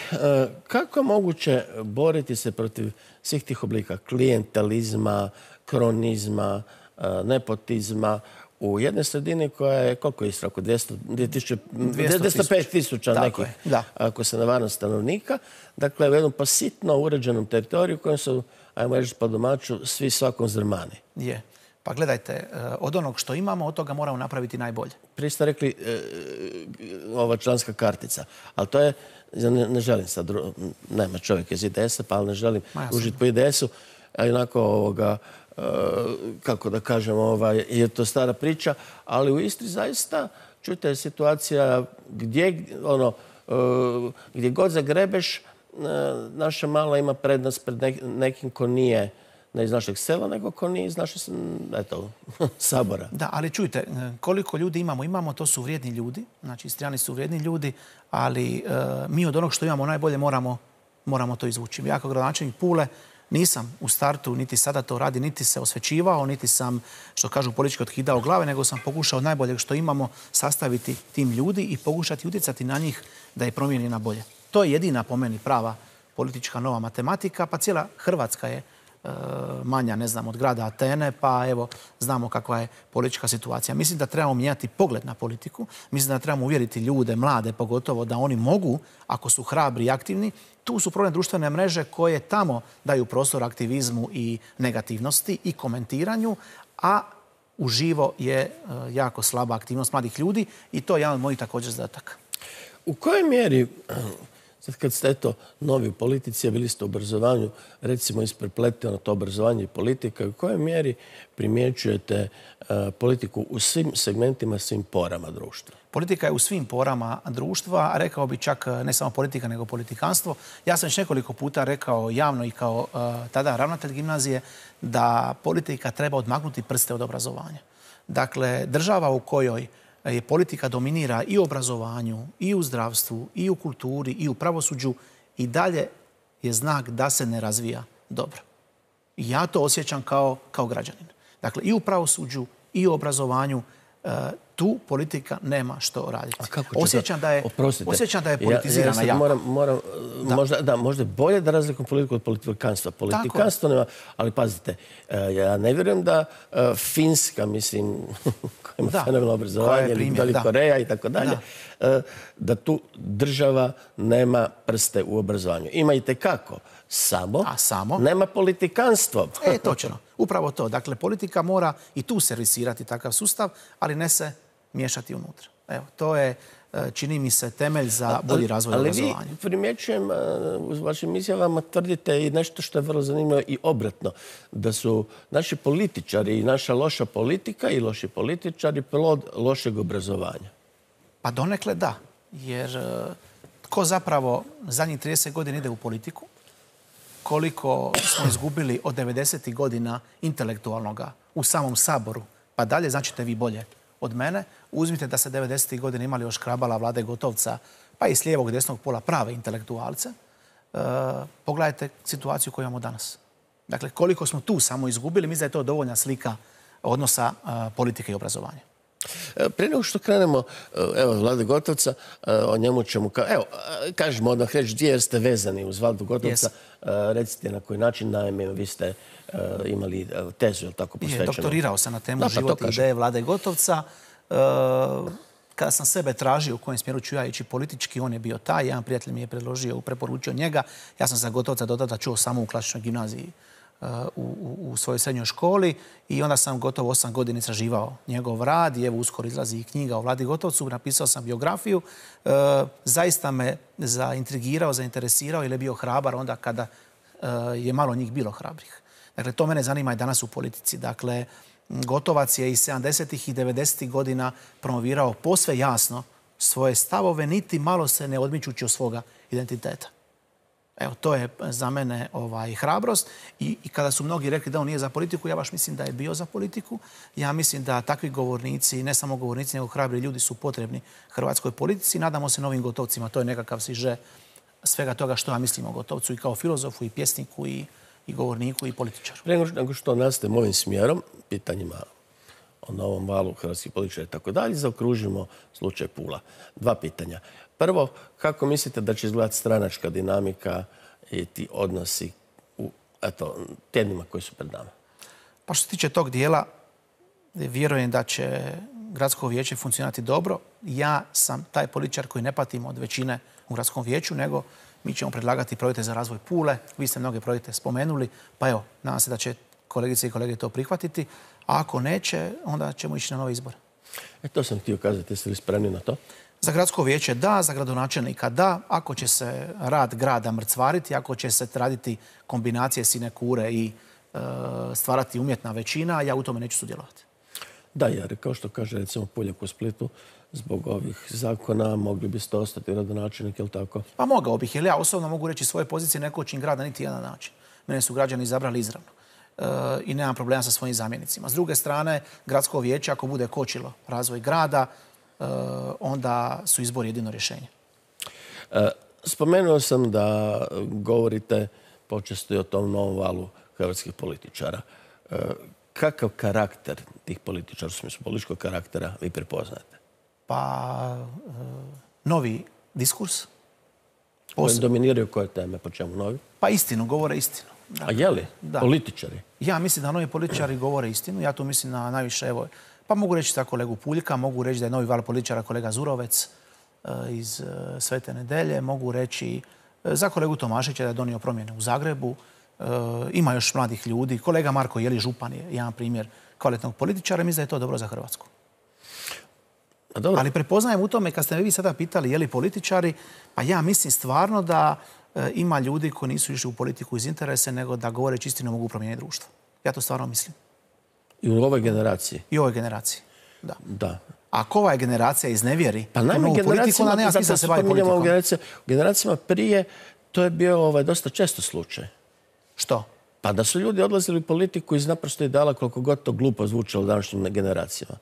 kako je moguće boriti se protiv svih tih oblika klijentelizma, kronizma, nepotizma u jednoj sredini koja je, koliko je Istra, oko dvjesto, dvjesto pet tisuća nekih, ako se ne varam, stanovnika. Dakle, u jednom pasitno uređenom teritoriju u kojem su, ajmo reći po domaću, svi svakom zdrmani. Je. Pa gledajte, od onog što imamo, od toga moramo napraviti najbolje. Prije ste rekli e, ova članska kartica, ali to je, ne, ne želim sad, nema čovjek iz I D S-a, pa ali ne želim užiti po I D S-u, a onako ovoga, kako da kažem, ovaj, je to stara priča, ali u Istri zaista, čujte, situacija gdje, ono, gdje god zagrebeš, naša mala ima prednost pred nekim ko nije ne iz našeg sela, nego ko nije iz našeg, eto, sabora. Da, ali čujte, koliko ljudi imamo? Imamo, to su vrijedni ljudi, znači Istrijani su vrijedni ljudi, ali mi od onog što imamo najbolje moramo, moramo to izvući. Ja kao gradonačelnik Pule nisam u startu, niti sada to radi, niti se osvećivao, niti sam, što kažu, politički otkidao glave, nego sam pokušao od najboljeg što imamo sastaviti tim ljudi i pokušati utjecati na njih da je promijeni na bolje. To je jedina po meni prava politička nova matematika, pa cijela Hrvatska je e, manja, ne znam, od grada Atene, pa evo, znamo kakva je politička situacija. Mislim da trebamo mijenjati pogled na politiku, mislim da trebamo uvjeriti ljude, mlade pogotovo, da oni mogu, ako su hrabri i aktivni. Tu su problem društvene mreže koje tamo daju prostor aktivizmu i negativnosti i komentiranju, a uživo je jako slaba aktivnost mladih ljudi i to je jedan od mojih također zadataka. U kojoj mjeri, sad kad ste eto novi u politici, a bili ste u obrazovanju, recimo isprepleteno to obrazovanje i politika, u kojoj mjeri primjećujete politiku u svim segmentima, svim porama društva? Politika je u svim porama društva, rekao bi čak ne samo politika, nego politikanstvo. Ja sam već nekoliko puta rekao javno i kao uh, tada ravnatelj gimnazije da politika treba odmaknuti prste od obrazovanja. Dakle, država u kojoj je politika dominira i u obrazovanju, i u zdravstvu, i u kulturi, i u pravosuđu, i dalje je znak da se ne razvija dobro. I ja to osjećam kao, kao građanin. Dakle, i u pravosuđu, i u obrazovanju, uh, tu politika nema što raditi. Osjećam da je, osjećam da je politizirana ja, ja jako. Moram, moram, da. Možda, da, možda je bolje da razlikom politiku od politikanstva. Politikanstvo nema, ali pazite, ja ne vjerujem da Finska, mislim, koja ima fenomenalno obrazovanje, ili Koreja i tako dalje, da tu država nema prste u obrazovanju. Ima i tekako. Samo, A samo nema politikanstvo. E, točno. Upravo to. Dakle, politika mora i tu servisirati takav sustav, ali ne se miješati unutra. Evo, to je, čini mi se, temelj za bolji razvoj obrazovanja. Ali vi, primjećujem, u vašim izjavama tvrdite i nešto što je vrlo zanimljivo i obratno, da su naši političari i naša loša politika i loši političari plod lošeg obrazovanja. Pa donekle da. Jer tko zapravo zadnjih trideset godina ide u politiku, koliko smo izgubili od devedesetih godina intelektualnoga u samom Saboru, pa dalje, značite vi bolje od mene. Uzmite da se devedesetih godina imali još Krabala, Vlade Gotovca, pa i s lijevog i desnog pola prave intelektualce. E, pogledajte situaciju koju imamo danas. Dakle, koliko smo tu samo izgubili, mislim da je to dovoljna slika odnosa e, politike i obrazovanja. Prije nego što krenemo, evo, Vlade Gotovca, o njemu ćemo, evo, kažemo odmah reći dvije jer ste vezani uz Vladu Gotovca. Yes. Recite na koji način, naime, vi ste uh, imali tezu, ili tako posvećeno? Je, doktorirao sam na temu da, život i ideje Vlade Gotovca. Uh, kada sam sebe tražio u kojem smjeru ću ja ići politički, on je bio taj. Jedan prijatelj mi je predložio, preporučio njega. Ja sam za Gotovca do tada čuo samo u klasičnoj gimnaziji U, u, u svojoj srednjoj školi i onda sam gotovo osam godina istraživao njegov rad i evo uskoro izlazi i knjiga o Vladi Gotovcu, napisao sam biografiju. E, zaista me zaintrigirao, zainteresirao jer je bio hrabar onda kada e, je malo njih bilo hrabrih. Dakle, to mene zanima i danas u politici. Dakle, Gotovac je iz sedamdesetih i devedesetih godina promovirao posve jasno svoje stavove, niti malo se ne odmičući od svoga identiteta. Evo, to je za mene ovaj, hrabrost. I, I kada su mnogi rekli da on nije za politiku, ja baš mislim da je bio za politiku. Ja mislim da takvi govornici, ne samo govornici, nego hrabri ljudi su potrebni hrvatskoj politici. Nadamo se novim Gotovcima. To je nekakav siže svega toga što ja mislim o Gotovcu i kao filozofu, i pjesniku, i, i govorniku, i političaru. Prije nego što nastavimo ovim smjerom, pitanjima o novom valu hrvatskih političara i tako dalje, zaokružimo slučaj Pula. Dva pitanja. Prvo, kako mislite da će izgledati stranačka dinamika i ti odnosi u eto, tjednima koji su pred nama? Pa što se tiče tog dijela, vjerujem da će gradsko vijeće funkcionirati dobro. Ja sam taj političar koji ne patim od većine u gradskom vijeću, nego mi ćemo predlagati projekte za razvoj Pule. Vi ste mnoge projekte spomenuli, pa evo, nadam se da će kolegice i kolege to prihvatiti. A ako neće, onda ćemo ići na nove izbore. E, to sam htio kazati. Jeste li spremni na to? Za gradsko vijeće da, za gradonačelnika da. Ako će se rad grada mrcvariti, ako će se raditi kombinacije sinekure i e, stvarati umjetna većina, ja u tome neću sudjelovati. Da, jer kao što kaže recimo Puljak u Splitu, zbog ovih zakona mogli biste ostati gradonačelnik, je li tako? Pa mogao bih, jer ja osobno mogu reći svoje pozicije ne kočim grada niti jedan način. Mene su građani izabrali izravno. E, I nemam problema sa svojim zamjenicima. S druge strane, gradsko vijeće, ako bude kočilo razvoj grada, onda su izbori jedino rješenje. Spomenuo sam da govorite počesto i o tom novom valu hrvatskih političara. Kakav karakter tih političara, u smislu političkog karaktera, vi prepoznajete? Pa, novi diskurs. Posebno. Dominiraju koje teme, po čemu novi? Pa istinu, govore istinu. Dakle, a je li? Da. Političari? Ja mislim da novi političari govore istinu. Ja tu mislim na najviše, evo, pa mogu reći za kolegu Puljka, mogu reći da je novi val političara kolega Zurovec iz Svete Nedelje, mogu reći za kolegu Tomašića da je donio promjene u Zagrebu. Ima još mladih ljudi. Kolega Marko Jeli, župan, je jedan primjer kvalitetnog političara. Mislim da je to dobro za Hrvatsku. Dobro. Ali prepoznajem u tome, kad ste me vi sada pitali je li političari, pa ja mislim stvarno da ima ljudi koji nisu išli u politiku iz interese, nego da govoreći istinu mogu promijeniti društvo. Ja to stvarno mislim. I u ovoj generaciji? I u ovoj generaciji, da. Da. Ako ova generacija iznevjeri pa novu politiku, onda nema smisla da se bavi politikom. U generacijama prije to je bio ovaj, dosta često slučaj. Što? Pa da su ljudi odlazili u politiku iz naprosto ideala koliko god to glupo zvučalo današnjim generacijama.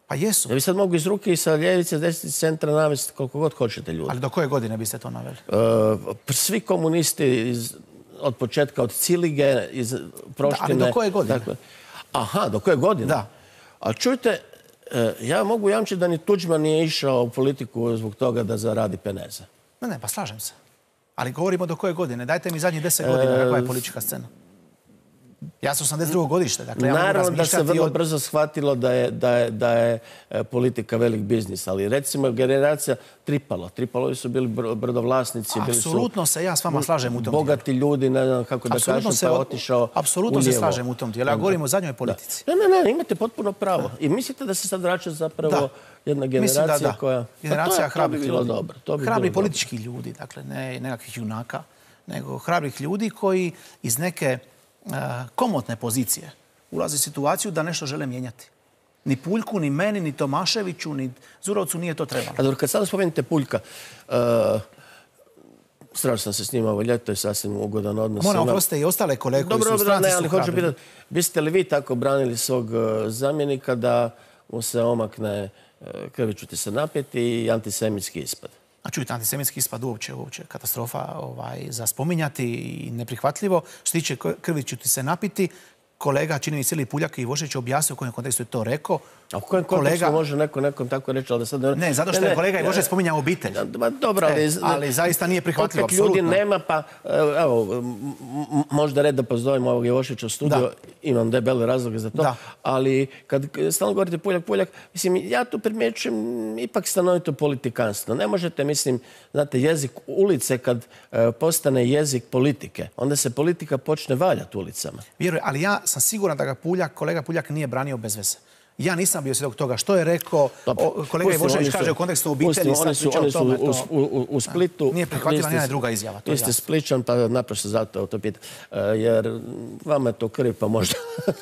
Pa jesu. Ja bi sad mogu iz ruke i sa ljevice, desnice, centra navesti koliko god hoćete ljudi. Ali do koje godine biste to naveli? Uh, svi komunisti iz, od početka, od Cilige, iz Proštine. Da, ali do koje godine? Dakle, aha, do koje godine? Da. A čujte, Ja mogu jamčiti da ni Tuđman nije išao u politiku zbog toga da zaradi peneze. Ne, ne, pa slažem se. Ali govorimo do koje godine. Dajte mi zadnjih deset godina kakva je politička scena. Ja sam osamdeset drugo godište. Dakle, ja naravno da se vrlo od... brzo shvatilo da je, da, je, da je politika velik biznis, ali recimo generacija Tripalo. Tripalovi su bili brodovlasnici. Apsolutno se ja s vama slažem u tom bogati dijelu. ljudi, ne znam kako da kažem, pa otišao Apsolutno se slažem u tom dijelu. Ja govorim o zadnjoj politici. Ne, ne, ne, imate potpuno pravo. Da. I mislite da se sad vraća zapravo da. jedna generacija da, da. koja... Generacija pa to, hrabrih ljudi. Dobro. To bi hrabri politički dobro. ljudi, dakle, ne nekakvih junaka, nego hrabrih ljudi koji iz neke uh, komotne pozicije ulaze u situaciju da nešto žele mijenjati. Ni Puljku, ni meni, ni Tomaševiću, ni Zurovcu nije to trebalo. A dobro, kad sada spomenete Puljka, uh, strašno sam se s njima ovo ljeto, je sasvim ugodan odnos. Moram oprostiti i ostale kolege koji su u stranci su hrabri. Hoću pitati, biste li vi tako branili svog uh, zamjenika da mu se omakne uh, krviću ti se napjeti i antisemitski ispad? A čujte, antisemitski ispad uopće, uopće katastrofa ovaj, za spominjati i neprihvatljivo. Što se tiče krviću ti se napiti, kolega, čini mi se ili Puljak i Ivošević objasnio u kojem kontekstu je to rekao. A u kojem kontekstu kolega... može neko nekom tako reći, ali da sad... Ne, zato što ne, je kolega ne, Ivošević spominjao obitelj. Da, dobro, ali... E, ali zaista nije prihvatljivo, apsolutno. Opet ljudi nema, pa... Evo, možda red da pozovemo ovog Ivoševića u studiju. Da. Imam debele razloge za to. Da. Ali kad stalno govorite Puljak, Puljak, mislim, ja tu primjećujem ipak stanovito politikanstvo. Ne možete, mislim, znate, jezik ulice kad e, postane jezik politike, onda se politika počne valjati ulicama. Vjerujem, ali ja sam siguran da ga Puljak, kolega Puljak nije branio bez veze. Ja nisam bio svjedok toga što je rekao. O, kolega Ivošević kaže u kontekstu obitelji. Oni su, oni su u, u, u Splitu. Nije prihvatila nijedna druga izjava. Vi ste Spličan, pa naprosto zato to pitam. Jer vama je to krv, pa možda,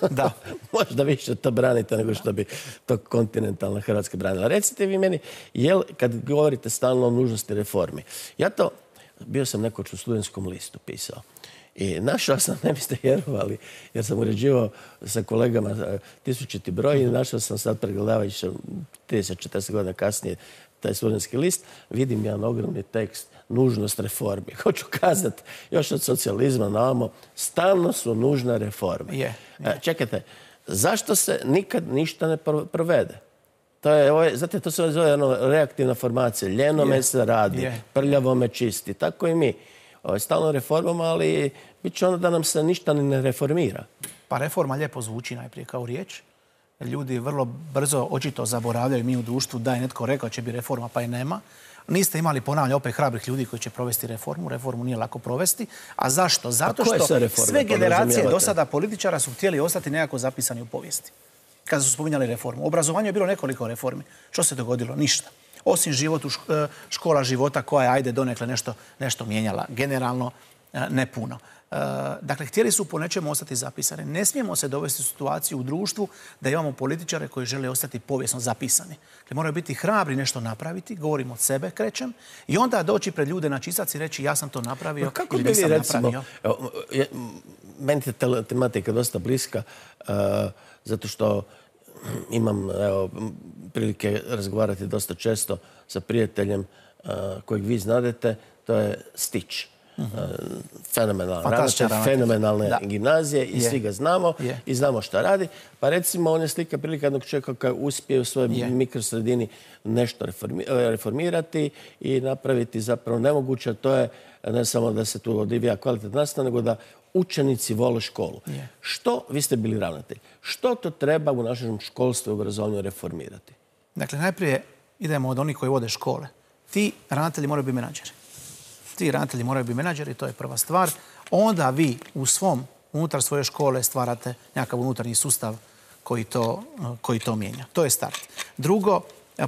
da. možda više to branite nego što bi to kontinentalna Hrvatska branila. Recite vi meni, jel, kad govorite stalno o nužnosti reformi, ja to, bio sam nekoć u Studentskom listu pisao. I našao sam, ne biste vjerovali, jer sam uređivao sa kolegama tisućiti broj i našao sam sad pregledavajući trideset četrdeset godina kasnije taj Studentski list, vidim jedan ogromni tekst, nužnost reformi. Hoću kazati, još od socijalizma na ovamo, stalno su nužne reforme. Je, je. Čekajte, zašto se nikad ništa ne provede? To je, ovo je, znate, to se zove ono, reaktivna formacija. Ljeno me se radi, je. prljavo me čisti. Tako i mi. Ovo je stalno reformama, ali bit će ono da nam se ništa ne reformira. Pa reforma lijepo zvuči najprije kao riječ. Ljudi vrlo brzo očito zaboravljaju mi u društvu da je netko rekao će bi reforma pa je nema. Niste imali, ponavljam, opet hrabrih ljudi koji će provesti reformu. Reformu nije lako provesti. A zašto? Zato što sve generacije do sada političara su htjeli ostati nekako zapisani u povijesti. Kada su spominjali reformu. U obrazovanju je bilo nekoliko reformi. Što se dogodilo? Ništa. Osim život u škola života koja je, ajde, donekle nešto, nešto mijenjala. Generalno ne puno. Dakle, htjeli su po nečemu ostati zapisani. Ne smijemo se dovesti u situaciju u društvu da imamo političare koji žele ostati povijesno zapisani. Dakle, moraju biti hrabri nešto napraviti, govorim od sebe, krećem, i onda doći pred ljude na čistac i reći ja sam to napravio no, kako ili nisam vi, recimo, napravio. Evo, je, meni je tematika dosta bliska, uh, zato što imam evo, prilike razgovarati dosta često sa prijateljem uh, kojeg vi znadete, to je Stić. Uh, fenomenalan ravnatelj, fenomenalne da. gimnazije i je. svi ga znamo je. i znamo šta radi. Pa recimo on je slika prilika jednog čovjeka koji uspije u svojoj je. mikrosredini nešto reformi, reformirati i napraviti zapravo nemoguće. To je ne samo da se tu odvija kvalitetna nastava, nego da učenici vole školu. Je. Što, vi ste bili ravnatelj, što to treba u našem školstvu i obrazovanju reformirati? Dakle, najprije idemo od onih koji vode škole. Ti ravnatelji moraju biti menadžeri. Ti ravnatelji moraju biti menadžeri, to je prva stvar. Onda vi u svom, unutar svoje škole stvarate nekakav unutarnji sustav koji to, koji to mijenja. To je start. Drugo,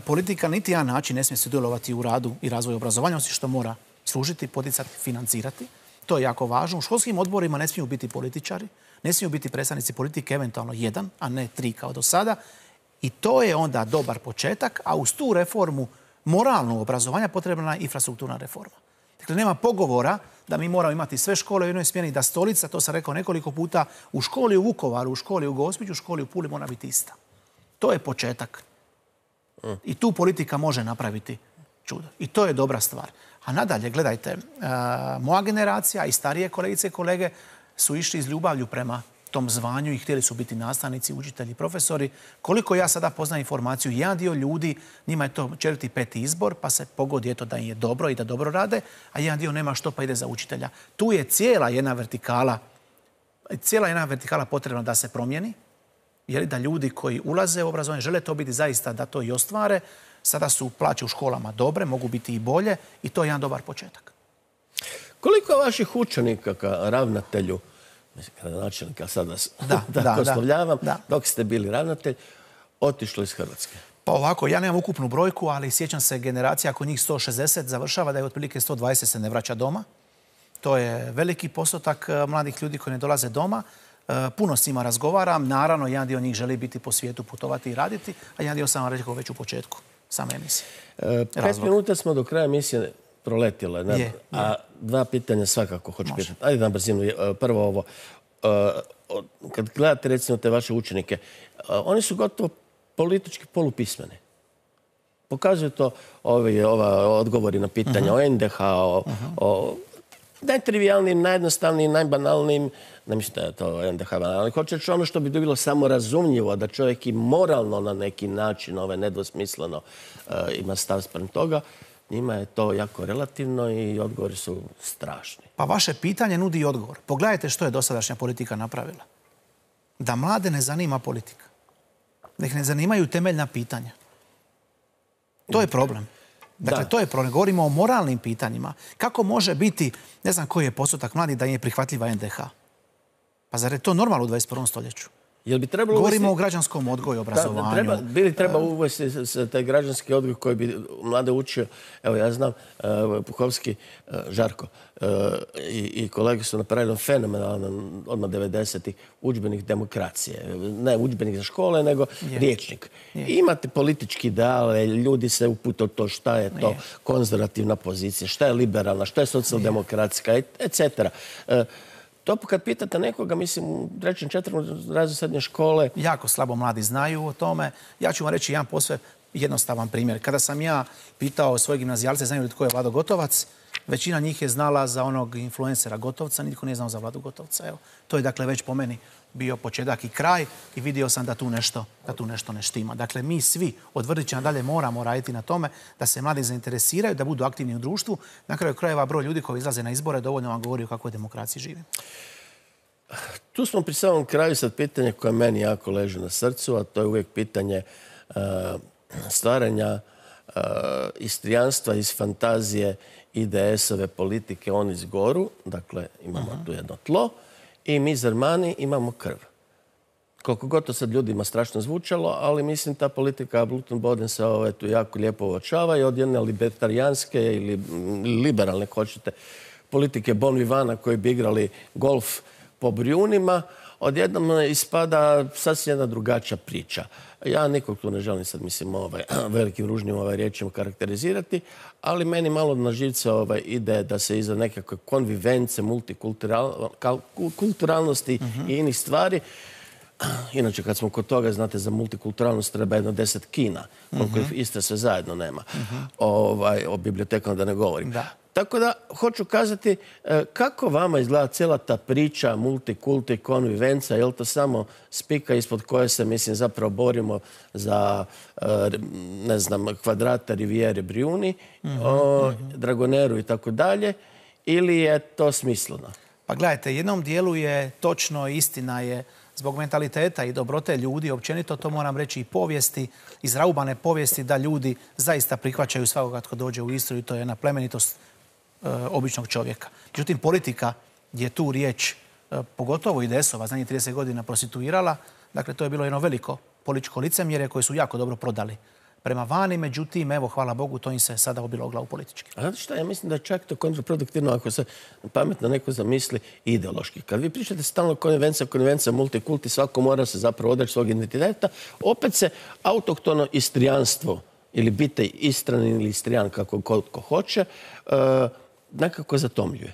politika niti jedan način ne smije sudjelovati u radu i razvoju obrazovanja, osim što mora služiti, poticati, financirati. To je jako važno. U školskim odborima ne smiju biti političari, ne smiju biti predstavnici politike, eventualno jedan, a ne tri kao do sada. I to je onda dobar početak, a uz tu reformu moralnog obrazovanja potrebna je infrastrukturna reforma. Dakle, nema pogovora da mi moramo imati sve škole u jednoj smjeni, da stolica, to sam rekao nekoliko puta, u školi u Vukovaru, u školi u Gospiću, u školi u Puli mora biti ista. To je početak. I tu politika može napraviti čudo. I to je dobra stvar. A nadalje, gledajte, moja generacija i starije kolegice i kolege su išli iz ljubavlju prema tom zvanju i htjeli su biti nastavnici, učitelji, profesori. Koliko ja sada poznam informaciju, jedan dio ljudi, njima je to četvrti, peti izbor, pa se pogodi eto da im je dobro i da dobro rade, a jedan dio nema što pa ide za učitelja. Tu je cijela jedna vertikala, cijela jedna vertikala potrebna da se promijeni, jer da ljudi koji ulaze u obrazovanje žele to biti zaista da to i ostvare. Sada su plaće u školama dobre, mogu biti i bolje i to je jedan dobar početak. Koliko vaših učenika ka ravnatelju, mislim, gradonačelnika, sad vas tako oslovljavam, dok ste bili ravnatelj, otišlo iz Hrvatske? Pa ovako, ja nemam ukupnu brojku, ali sjećam se generacija, ako njih sto šezdeset završava, da je otprilike sto dvadeset se ne vraća doma. To je veliki postotak mladih ljudi koji ne dolaze doma. Puno s njima razgovaram. Naravno, jedan dio njih želi biti po svijetu, putovati i raditi, a jedan dio sam vam rekao već u početku same emisije. Pet minuta smo do kraja emisije proletile, a dva pitanja svakako hoću pitati. Ajde na brzinu. Prvo ovo. Kad gledate recimo te vaše učenike, oni su gotovo politički polupismeni. Pokazuju to ova odgovori na pitanja o en de ha, o najtrivijalnijim, najjednostavnijim, najbanalnijim, ne mislim da je to en de ha banalno, ali hoće reći ono što bi bilo samo razumljivo, da čovjek i moralno na neki način, nedvosmisleno ima stav sprem toga, njima je to jako relativno i odgovori su strašni. Pa vaše pitanje nudi i odgovor. Pogledajte što je dosadašnja politika napravila. Da mlade ne zanima politika. Da ih ne zanimaju temeljna pitanja. To je problem. Dakle, to je problem. Govorimo o moralnim pitanjima. Kako može biti, ne znam koji je postotak mladih da im je prihvatljiva en de ha? Pa zar je to normalno u dvadeset prvom stoljeću? Govorimo o građanskom odgoju, obrazovanju. Bili treba uvesti taj građanski odgoj koji bi mlade učio. Evo, ja znam, Puhovski, Žarko i kolege su napravili fenomenalan odmah devedesetih udžbenik demokracije. Ne udžbenik za škole, nego riječnik. Imate politički ideale, ljudi se upute u to šta je to konzervativna pozicija, šta je liberalna, šta je socijaldemokratska, et cetera. To kad pitate nekoga, mislim, u trećem, četvrtom razredu srednje škole... Jako slabo mladi znaju o tome. Ja ću vam reći jedan posve jednostavan primjer. Kada sam ja pitao svoje gimnazijalce znaju li tko je Vlado Gotovac, većina njih je znala za onog influencera Gotovca, nitko nije znao za Vladu Gotovca. Evo, to je dakle već po meni bio početak i kraj i vidio sam da tu nešto, da tu nešto ne štima. Dakle, mi svi od vrtića nadalje moramo raditi na tome da se mladi zainteresiraju, da budu aktivni u društvu. Na kraju krajeva broj ljudi koji izlaze na izbore dovoljno vam govori o kakvoj demokraciji živimo. Tu smo pri samom kraju sad pitanje koje meni jako leži na srcu, a to je uvijek pitanje stvaranja istrijanstva iz fantazije i de esove politike on iz goru. Dakle, imamo tu jedno tlo. I mi Zermani imamo krv. Koliko god to sad ljudima strašno zvučalo, ali mislim ta politika Blutenboden se tu jako lijepo uočava i od jedne libertarijanske ili liberalne, hoćete, politike Bon Vivana koji bi igrali golf po Brijunima, odjednom ispada sasvim jedna drugačija priča. Ja nikog tu ne želim sad, mislim, velikim ružnim riječima karakterizirati, ali meni malo na živce ide da se iza nekakve konvivence, multikulturalnosti i inih stvari. Inače, kad smo kod toga, znate, za multikulturalnost treba jedno deset kina, koliko Istra sve zajedno nema. O bibliotekama da ne govorim. Tako da, hoću kazati, kako vama izgleda cijela ta priča multikulti, konvivenca, je li to samo spika ispod koje se, mislim, zapravo borimo za, ne znam, kvadrata Rivijere Brijuni, Dragoneru i tako dalje, ili je to smisleno? Pa gledajte, jednom dijelu je točno, istina je, zbog mentaliteta i dobrote ljudi, općenito to moram reći i povijesti, izraubane povijesti, da ljudi zaista prihvaćaju svakoga tko dođe u Istru i to je jedna plemenitost običnog čovjeka. Međutim, politika je tu riječ, pogotovo i de esova, zadnjih trideset godina prostituirala. Dakle, to je bilo jedno veliko političko licemjerje koje su jako dobro prodali prema vani. Međutim, evo, hvala Bogu, to im se sada obilo o glavu politički. A znate šta, ja mislim da je čak to kontraproduktivno ako se pametno neko zamisli ideološki. Kad vi pričate stalno konvencija, konvencija, multikulti, svako mora se zapravo odreći svog identiteta, opet se autohtono istrijanstvo ili biti Istranin ili Istrijan, kako ko hoće, nekako zatomljuje.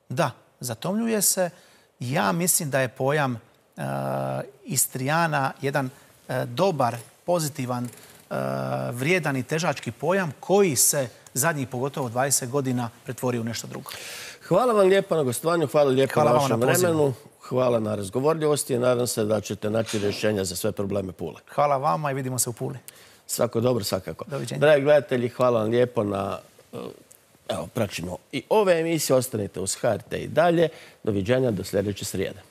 Da, zatomljuje se. Ja mislim da je pojam Istrijana jedan dobar, pozitivan, vrijedan i težački pojam koji se zadnjih pogotovo dvadeset godina pretvorio u nešto drugo. Hvala vam lijepo na gostovanju, hvala lijepo na vašem vremenu. hvala na razgovorljivosti i nadam se da ćete naći rješenja za sve probleme Pule. Hvala vama i vidimo se u Puli. Svako dobro, svakako. Doviđenja. Dragi gledatelji, hvala vam lijepo na evo, praćimo i ove emisije. Ostanite uz H R T i dalje. Doviđenja do sljedeće srijede.